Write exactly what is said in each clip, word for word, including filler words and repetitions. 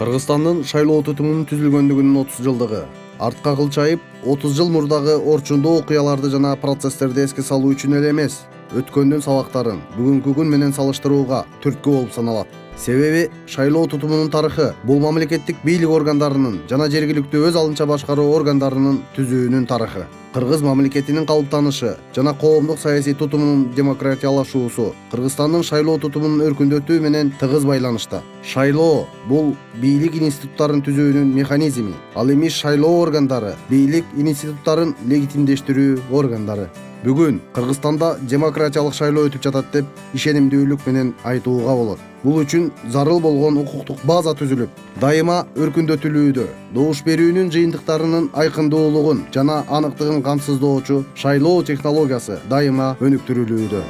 Кыргызстандын шайлоо тутумунун түзүлгөндүгүнүн отуз жылдыгы. Артка кылчайып, отуз жыл мурдагы орчундуу окуяларды жана процесстерди эске салуу үчүн эле эмес, өткөндүн сабактарын бүгүнкү күн менен салыштырууга түрткү болуп саналат. Себеби шайлоо тутумунун тарыхы бул мамлекеттик бийлик органдарынын жана жергиликтүү өз алынча башкаруу органдарынын түзүүнүн тарыхы. Кыргыз мамлекетинин калыптанышы жана коомдук саясий тутумунун демократиялашуусу Кыргызстандын шайлоо тутумунун өркүндөтүү менен тыгыз байланышта. Шайлоо бул бийлик институттарын түзүүнүн механизми, ал эми шайлоо органдары бийлик институттарын легитимдештирүү органдары. Бүгүн Кыргызстанда демократиялык шайлоо өтүп жатат деп ишенимдүүлүк менен айтууга болот. Бул үчүн зарыл болгон укуктук база түзүлүп, дайыма өркүндөтүлүүдө, добуш берүүнүн жыйынтыктарынын айкындуулугун жана аныктыгын камсыздоочу шайлоо технологиясы дайыма өнүктүрүлүүдө.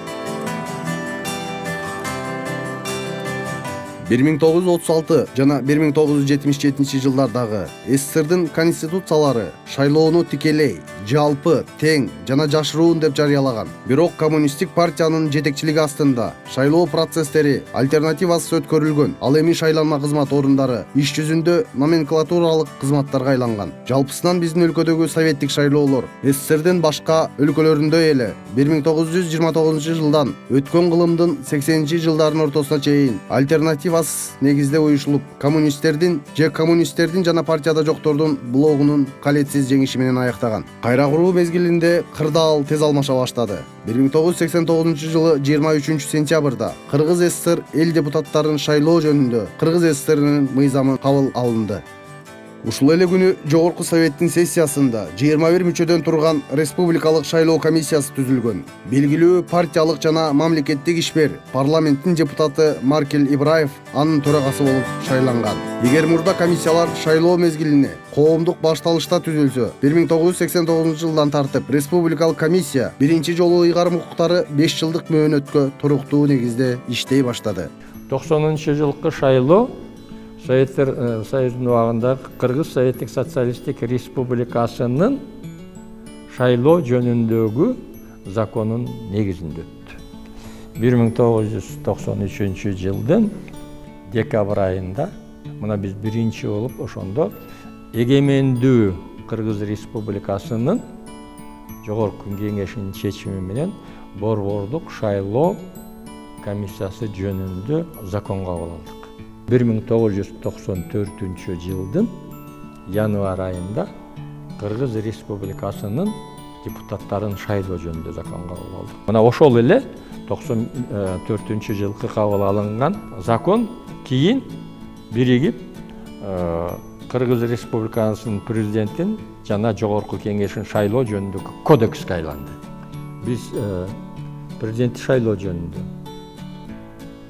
бир миң тогуз жүз отуз алты жана бир миң тогуз жүз жетимиш жетинчи жылдардагы СССРдин конституциялары шайлоону тикелей, жалпы, тең жана жашыруун деп жарыялаган. Бирок коммунисттик партиянын жетекчилиги астында шайлоо процесстери альтернативасыз өткөрүлгөн. Ал эми шайланма кызмат орундары иш жүзүндө номенклатуралык кызматтарга айланган. Жалпысынан биздин өлкөдөгү советтик шайлоолор СССРдин башка өлкөлөрүндөй эле бир миң тогуз жүз жыйырма тогузунчу жылдан өткөн кылымдын сексенинчи жылдарынын ортосуна чейин альтернатива негизде уюшулуп, коммунисттердин же коммунисттердин жана партияда жоктордун блогунун калетсиз жеңиши менен аяктаган. Кайра куруу мезгилинде кырдаал тез алмаша баштады. бир миң тогуз жүз сексен тогузунчу жылы жыйырма үчүнчү сентябрда Кыргыз СССР эл депутаттарын шайлоо жөнүндө Кыргыз СССРинин мыйзамы кабыл алынды. Ушул эле күнү Жогорку Советтин сессиясында жыйырма бир мүчөдөн турган Республикалык шайлоо комиссиясы түзүлгөн. Белгилүү партиялык жана мамлекеттик ишмер парламенттин депутаты Маркел Ибраев анын төрагасы болуп шайланган. Эгер мурда комиссиялар шайлоо мезгилине коомдук башталышта түзүлсө, бир миң тогуз жүз сексен тогузунчу жылдан тартып Республикалык комиссия биринчи жолу ыйгарым укуктары беш жылдык мөөнөткө туруктуу негизде иштей баштады. токсонунчу жылкы шайлоо Советтер Союзунун убагында Кыргыз Советтик Социалисттик Республикасынын шайлоо жөнүндөгү законунун негизинде өттү. бир миң тогуз жүз токсон үчүнчү жылдын декабрь айында мына биз биринчи болуп ошондо эгемендүү Кыргыз Республикасынын Жогорку Кеңешинин чечими менен борбордук шайлоо комиссиясы жөнүндө закон кабыл алдык. бир миң тогуз жүз токсон төртүнчү жылдын январь айында Кыргыз Республикасынын депутаттарын шайлоо жөнүндө закон кабыл алды. Мына ошол эле токсон төртүнчү жылкы кабыл алынган закон кийин биригип Кыргыз Республикасынын президентин жана Жогорку Кеңешин шайлоо жөнүндөгү кодекске айланды. Биз президентти шайлоо жөнүндө,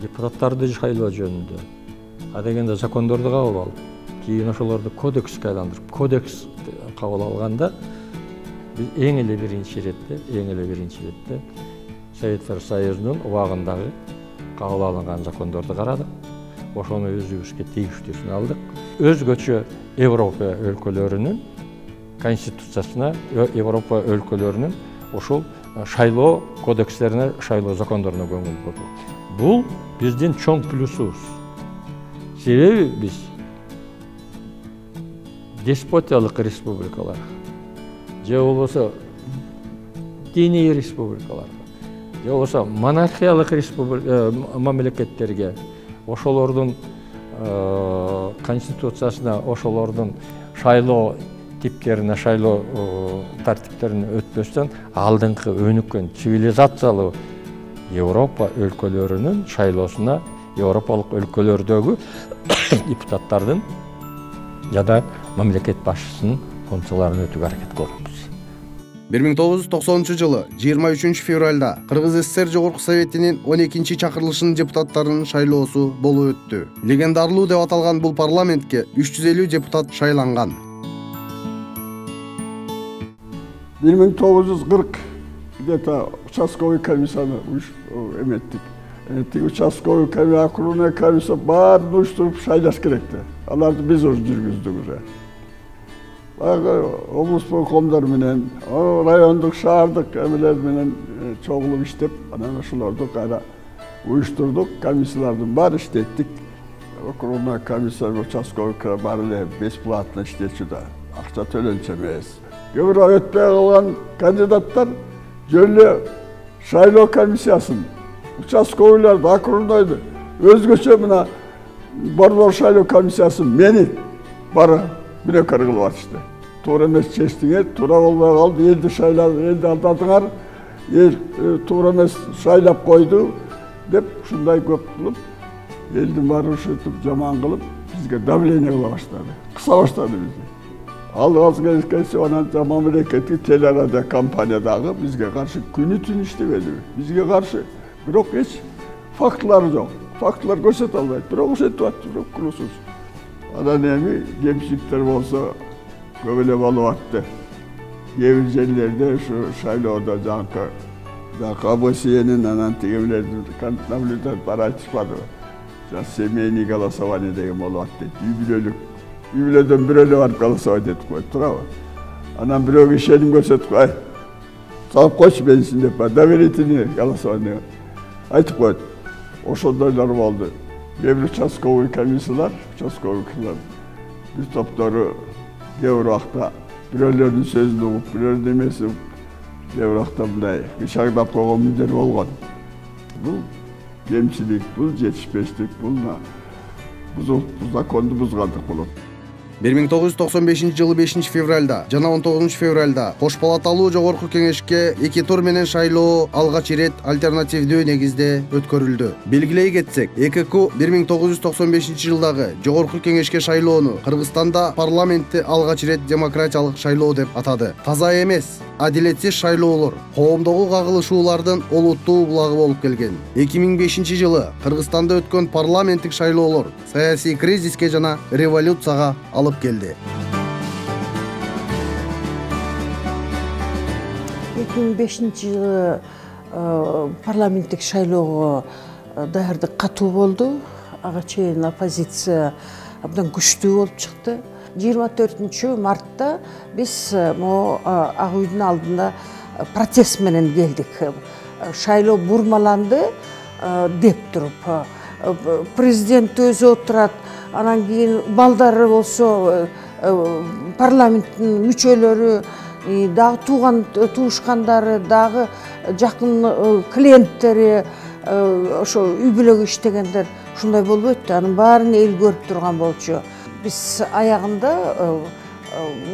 депутаттарды шайлоо жөнүндө адегенде закондорду кабыл алып, кийин ошолорду кодекске айландырып, кодекс кабыл алганда биз эң эле биринчи иретте, эң эле биринчи иретте Советтер Союзунун убагындагы кабыл алынган закондорду карадык. Ошону өзүбүзгө тийиштүүсүн алдык. Өзгөчө Европа өлкөлөрүнүн конституциясына, Европа өлкөлөрүнүн ошол шайлоо кодекстерине, шайлоо закондоруна көңүл бурдук. Бул биздин чоң плюсубуз. Себеби биз деспотиялык республикалар же болбосо диний республикаларга же болбосо монархиялык мамлекеттерге ошолордун конституциясына, ошолордун шайлоо типтерине, шайлоо тартиптерине өтпөстөн алдыңкы өнүккөн цивилизациялуу Европа өлкөлөрүнүн шайлоосуна Европалык өлкөлөрдөгү депутаттардын жада мамлекет башчысынын функцияларын өтүүгө аракет кылабыз. бир миң тогуз жүз токсонунчу жылы жыйырма үчүнчү февралда Кыргыз СССР Жогорку Советтинин он экинчи чакырылышынын депутаттарынын шайлоосу болуп өттү. Легендарлуу деп аталган бул парламентке үч жүз элүү депутат шайланган. бир миң тогуз жүз кырк где-то участковый комиссияны эметтик. Тиги участковый комиссия, окружной комиссия баарын уюштуруп шайлаш керекти. Аларды биз уже жүргүздүк уже. Баягы облус коомдор менен, райондук, шаардык эмелер менен чогулуп иштеп, анан ошолорду кайра уюштурдук, комиссиялардын баары иштеттик. округный комиссия участковый баары эле бесплатно иштечү да, акча төлөнчү эмес. Кээ бир өтпөй калган кандидаттар жөн эле шайлоо комиссиясын, участковыйларды, округнойду өзгөчө мына борбор шайлоо комиссиясын мени бара бирөкөр кылып атышты. Туура эмес чечтиңер, туура болбой калды, элди шайлап, элди алдадыңар, эл туура эмес шайлап койду деп ушундай көп кылып, элдин баары ушинтип жаман кылып, бизге давление кыла баштады. Кыса баштады бизди. Ал азыр келсе анан жаман мамлекеттик телерадио компаниядагы бизге каршы күнү түн иштебеди. Бизге каршы бирок эч фактылар жок. Фактылар көрсөтө албайт, бирок ошентип атты, бирок кулусуз. Анан эми кемчиликтер болсо көп эле болуп атты. Кээ бир жерлерде ушу шайлоодо жанкы АБСНин анан тигилердин наблюдать бара айтышпады. Семейный голосование деген болуп атты. Үй бүлөлүк. Үй бүлөдөн бирөө барып голосовать этип коет, туурабы? Анан бирөөгө ишеним көрсөтүп, ай, салып койчу бенсин деп, доверительный голосование айтып коет. Ошондойлор болду. Кээ бир участковый комиссиялар, участковый комиссиялар бир топтору кээ бир убакта бирөөлөрдүн сөзүн угуп, бирөөлөрдүн эмесин угуп, кээ бир убакта мындай кычагдап койгон мүндөр болгон. Бул кемчилик, бул жетишпештик, бул бузуп, законду бузгандык болот. бир миң тогуз жүз токсон бешинчи жылы бешинчи февралда жана он тогузунчу февралда кош палаталуу жогорку кеңешке эки тур менен шайлоо алгач ирет альтернативдүү негизде өткөрүлдү. Белгилей кетсек, ЭКК бир миң тогуз жүз токсон бешинчи жылдагы жогорку кеңешке шайлоону Кыргызстанда парламентти алгач ирет демократиялык шайлоо деп атады. Таза эмес, адилетсиз шайлоолор коомдогу кагылышуулардын олуттуу булагы болуп келген. эки миң бешинчи жылы Кыргызстанда өткөн парламенттик шайлоолор саясий кризиске жана революцияга алып келди. эки миң бешинчи жылы парламенттик шайлоого даярдык катуу болду. Ага чейин оппозиция абдан күчтүү болуп чыкты. жыйырма төртүнчү мартта биз могу ак үйдүн алдында протест менен келдик. Шайлоо бурмаланды деп туруп. Президент өзү отурат, анан кийин балдары болсо парламенттин мүчөлөрү, дагы тууган туушкандары, дагы жакын клиенттери, ошо үй бүлөгө иштегендер ушундай болбойт да, анын баарын эл көрүп турган болчу. Биз аягында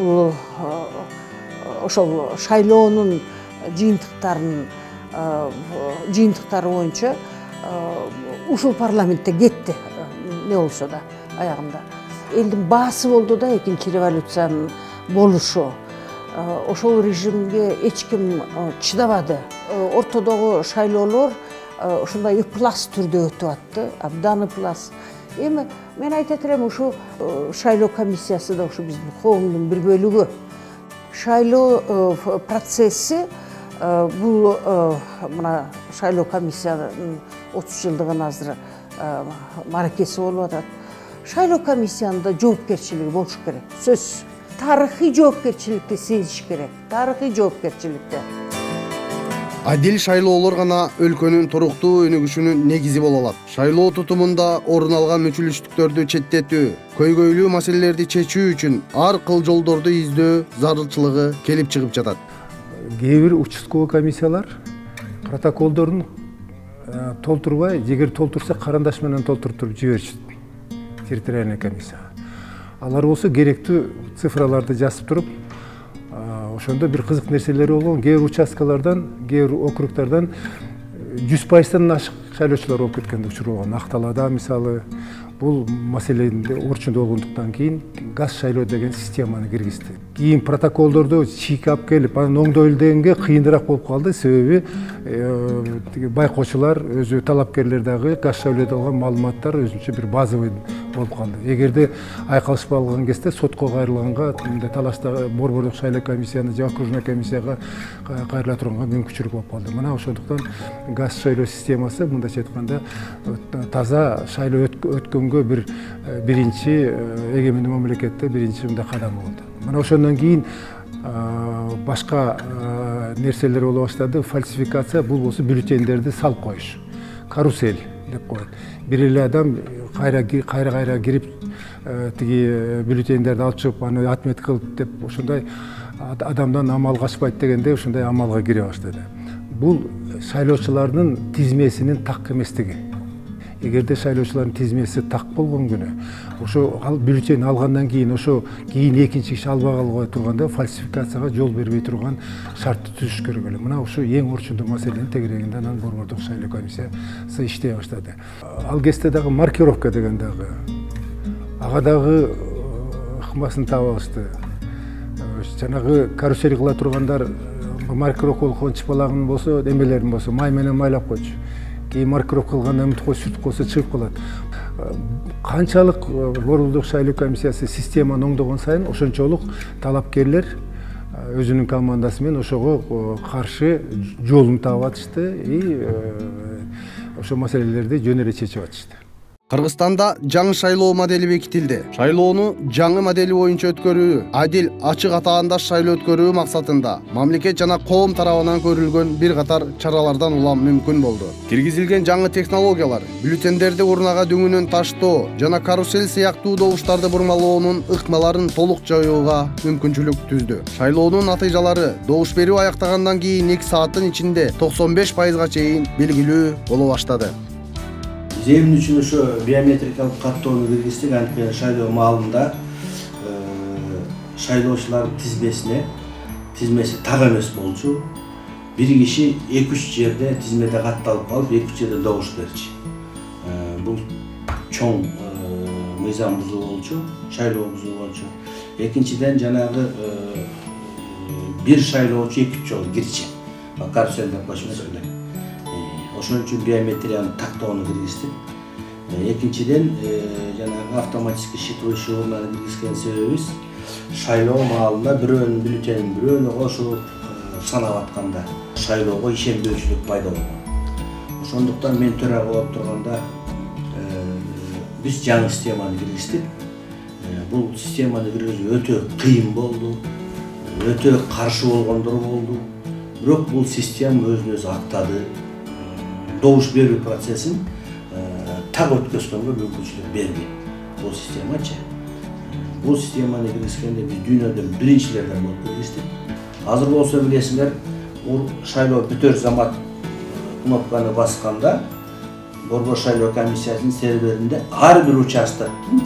бул ошол шайлоонун жыйынтыктарын жыйынтыктары боюнча ушул парламентте кетти, не болсо да аягында. Элдин баасы болду да экинчи революциянын болушу. Ошол режимге эч ким чыдабады. Ортодогу шайлоолор ушундай ыплас түрдө өтүп атты, абдан ыплас. Эми мен айтат элем, ушу шайлоо комиссиясы да ушу биздин коомдун бир бөлүгү. Шайлоо процесси бул мына шайлоо комиссиянын отуз жылдыгын азыр маракеси болуп атат. Шайлоо комиссиянын да жоопкерчилиги болуш керек. Сөз. Тарыхый жоопкерчиликти сезиш керек. Тарыхый жоопкерчиликти. Адил шайлоолор гана өлкөнүн туруктуу өнүгүшүнүн негизи боло алат. Шайлоо тутумунда орун алган мүчүлүштүктөрдү четтетүү, көйгөйлүү маселелерди чечүү үчүн ар кыл жолдорду издөө зарылчылыгы келип чыгып жатат. Кээ бир участковый комиссиялар протоколдорун толтурбай, эгер толтурса карандаш менен толтуруп жиберишет территориальный комиссия. Алар болсо керектүү цифраларды жазып туруп, ошондо бир кызык нерселери болгон. Кээ бир участкалардан, кээ бир округдардан жүз пайыздан ашык шайлоочулар болуп кеткен учур болгон. Акталада мисалы бул маселенде орчундо болгондуктан кийин газ шайлоо деген системаны киргизди. Кийин протоколдорду чийкап келип, анан оңдойлдегенге кыйыныраак болуп калды. Себеби байкоочулар, өзү талапкерлер дагы газ шайлоодо алган маалыматтар өзүнчө бир базовый болуп калды. Эгерде айкалышпай калган кезде сотко кайрылганга, мындай талашта борбордук шайлоо комиссияны же окружной комиссияга кайрыла турганга мүмкүнчүлүк болуп калды. Мына ошондуктан газ шайлоо системасы мындайча айтканда таза шайлоо өткөнгө бир биринчи эгемендүү мамлекетте биринчи мындай кадам болду. Мына ошондон кийин башка нерселер боло баштады. Фальсификация, бул болсо бюллетендерди салып коюш. Карусель. деп коет. Бир эле адам кайра кайра кайра кирип тиги бюллетендерди алып чыгып аны отмет кылып деп ошондой адамдан амал качпайт дегенде ошондой амалга кире баштады. Бул шайлоочулардын тизмесинин так эместиги. Эгерде шайлоочулардын тизмеси так болгон күнү, ошо бюллетень алгандан кийин ошо кийин экинчи киши албай калбай турганда фальсификацияга жол бербей турган шартты түзүш керек эле. Мына ошо эң орчундуу маселенин тегерегинде анан борбордук шайлоо комиссиясы иштей баштады. Ал кезде дагы маркировка деген дагы ага дагы ыкмасын таап алышты. Жанагы карусель кыла тургандар маркировка болгон чыпалагын болсо, эмелерин болсо май менен майлап койчу. Кийин маркировка кылганда үмүт кой сүртүп койсо чыгып калат. Канчалык борбордук шайлоо комиссиясы системаны оңдогон сайын ошончолук талапкерлер өзүнүн командасы менен ошого каршы жолун таап атышты и ошо маселелерди жөн эле чечип атышты. Кыргызстанда жаңы шайлоо модели бекитилди. Шайлоону жаңы модели боюнча өткөрүү, адил, ачык атаандаш шайлоо өткөрүү максатында мамлекет жана коом тарабынан көрүлгөн бир катар чаралардан улам мүмкүн болду. Киргизилген жаңы технологиялар бюллетендерди урнага дөңүнөн таштоо жана карусель сыяктуу добуштарды бурмалоонун ыкмаларын толук жоюуга мүмкүнчүлүк түздү. Шайлоонун натыйжалары добуш берүү аяктагандан кийин эки сааттын ичинде токсон беш пайызга чейин белгилүү боло баштады. Эмне үчүн ошо биометрикалык каттоону киргиздик, анткени шайлоо маалында шайлоочулардын тизмесине тизмеси так эмес болчу. Бир киши эки үч жерде тизмеде катталып калып, эки үч жерде добуш берчү. Бул чоң мыйзам бузуу болчу, шайлоо бузуу болчу. Экинчиден жанагы бир шайлоочу эки үч жолу кирчи. Карусель деп коюшмас эле. Ошон үчүн биометрияны тактоону киргиздик. Экинчиден жанагы автоматический считывающий урнаны киргизген себебибиз шайлоо маалында бирөөнүн бюллетенин бирөөнө кошуп санап атканда шайлоого ишенбөөчүлүк пайда болгон. Ошондуктан мен төрага болуп турганда биз жаңы системаны киргиздик. Бул системаны киргизүү өтө кыйын болду, өтө каршы болгондор болду. Бирок бул система өзүн өзү актады. Добуш берүү процессин так өткөзгөнгө мүмкүнчүлүк бербейт бул системачы. Бул системаны киргизгенде биз дүйнөдөн биринчилерден болуп киргиздик. Азыр болсо билесиңер, шайлоо бүтөр замат кнопканы басканда борбор шайлоо комиссиясынын серверинде ар бир участоктун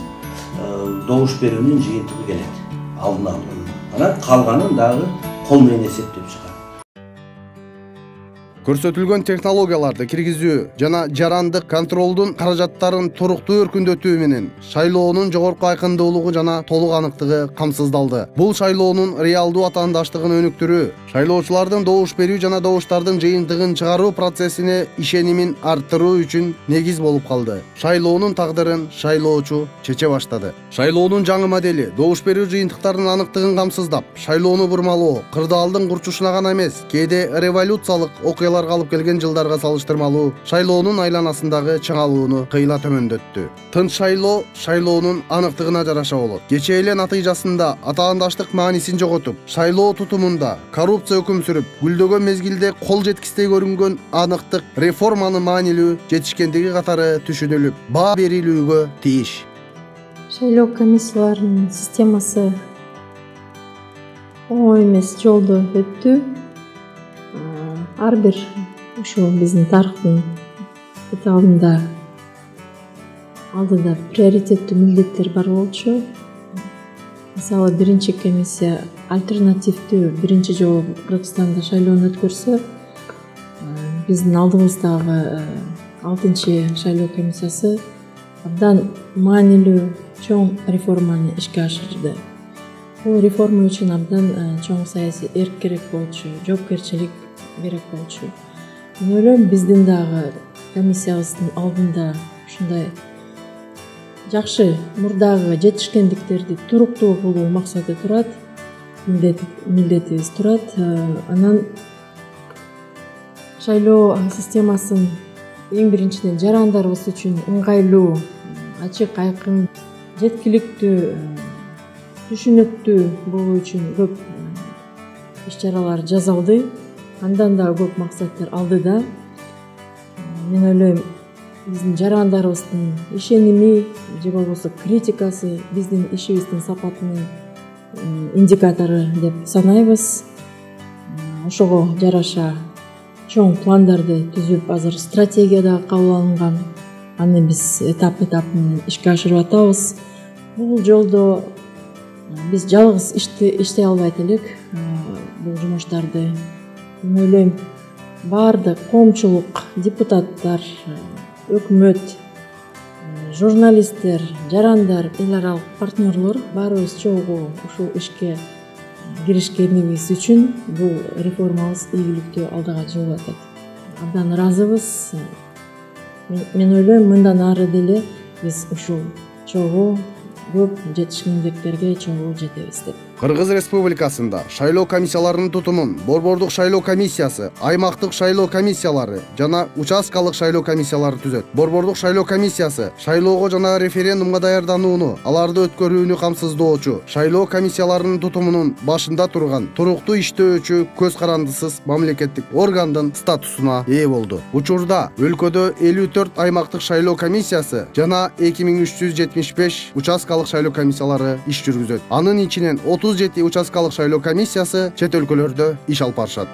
добуш берүүнүн жыйынтыгы келет, алдын алуу. Анан калганын дагы кол менен эсептеп чыгат. Көрсөтүлгөн технологияларды киргизүү жана жарандык контролдун каражаттарын туруктуу өркүндөтүү менен шайлоонун жогорку айкындуулугу жана толук аныктыгы камсыздалды. Бул шайлоонун реалдуу атаандаштыгын өнүктүрүү, шайлоочулардын добуш берүү жана добуштардын жыйынтыгын чыгаруу процессине ишенимин арттыруу үчүн негиз болуп калды. Шайлоонун тагдырын шайлоочу чече баштады. Шайлоонун жаңы модели добуш берүү жыйынтыктарынын аныктыгын камсыздап, шайлоону бурмалоо, кырдаалдын курчушуна гана эмес, кээде революциялык окуяларга алып келген жылдарга салыштырмалуу шайлоонун айланасындагы чыңалууну кыйла төмөндөттү. Тынч шайлоо шайлоонун аныктыгына жараша болот. Кечээ эле натыйжасында атаандаштык маанисин жоготуп, шайлоо тутумунда коррупция өкүм сүрүп, гүлдөгөн мезгилде кол жеткистей көрүнгөн аныктык реформанын маанилүү жетишкендиги катары түшүнүлүп, баа берилүүгө тийиш. Шайлоо комиссияларынын системасы оңой эмес жолду өттү. Ар бир ушул биздин тарыхтын этабында алдыда приоритеттүү милдеттер бар болчу. Мисалы биринчи комиссия альтернативдүү биринчи жолу Кыргызстанда шайлоону өткөрсө, биздин алдыбыздагы алтынчы шайлоо комиссиясы абдан маанилүү чоң реформаны ишке ашырды. Бул реформа үчүн абдан чоң саясий эрк керек болчу, жоопкерчилик керек болчу. Мен ойлойм, биздин дагы комиссиябыздын алдында ушундай жакшы мурдагы жетишкендиктерди туруктуу кылуу максаты турат, милдетибиз турат. Анан шайлоо системасын эң биринчиден жарандарыбыз үчүн ыңгайлуу, ачык, айкын, жеткиликтүү, түшүнүктүү болуу үчүн көп иш-чаралар жасалды. Андан да көп максаттар алдыда. Мен ойлойм, биздин жарандарыбыздын ишеними же болбосо критикасы биздин ишибиздин сапатынын индикатору деп санайбыз. Ошого жараша чоң пландарды түзүп, азыр стратегия да кабыл алынган. Аны биз этап этап менен ишке ашырып атабыз. Бул жолдо биз жалгыз иштей албайт элек. Бул жумуштарды мен ойлойм баардык коомчулук, депутаттар, өкмөт, журналисттер, жарандар, эл аралык партнерлор баарыбыз чогуу ушул ишке киришкенибиз үчүн бул реформабыз ийгиликтүү алдыга жылжып атат. Абдан ыраазыбыз. Мен ойлойм мындан ары деле биз ушул чогуу көп жетишкендиктерге чогуу жетебиз деп. Кыргыз Республикасында шайлоо комиссияларынын тутумун борбордук шайлоо комиссиясы, аймактык шайлоо комиссиялары жана участкалык шайлоо комиссиялары түзөт. Борбордук шайлоо комиссиясы шайлоого жана референдумга даярданууну, аларды өткөрүүнү камсыздоочу, шайлоо комиссияларынын тутумунун башында турган туруктуу иштөөчү көз карандысыз мамлекеттик органдын статусуна ээ болду. Учурда өлкөдө элүү төрт аймактык шайлоо комиссиясы жана эки миң үч жүз жетимиш беш участкалык шайлоо комиссиялары иш жүргүзөт. Анын ичинен отуз жети участкалык шайлоо комиссиясы чет өлкөлөрдө иш алып барышат.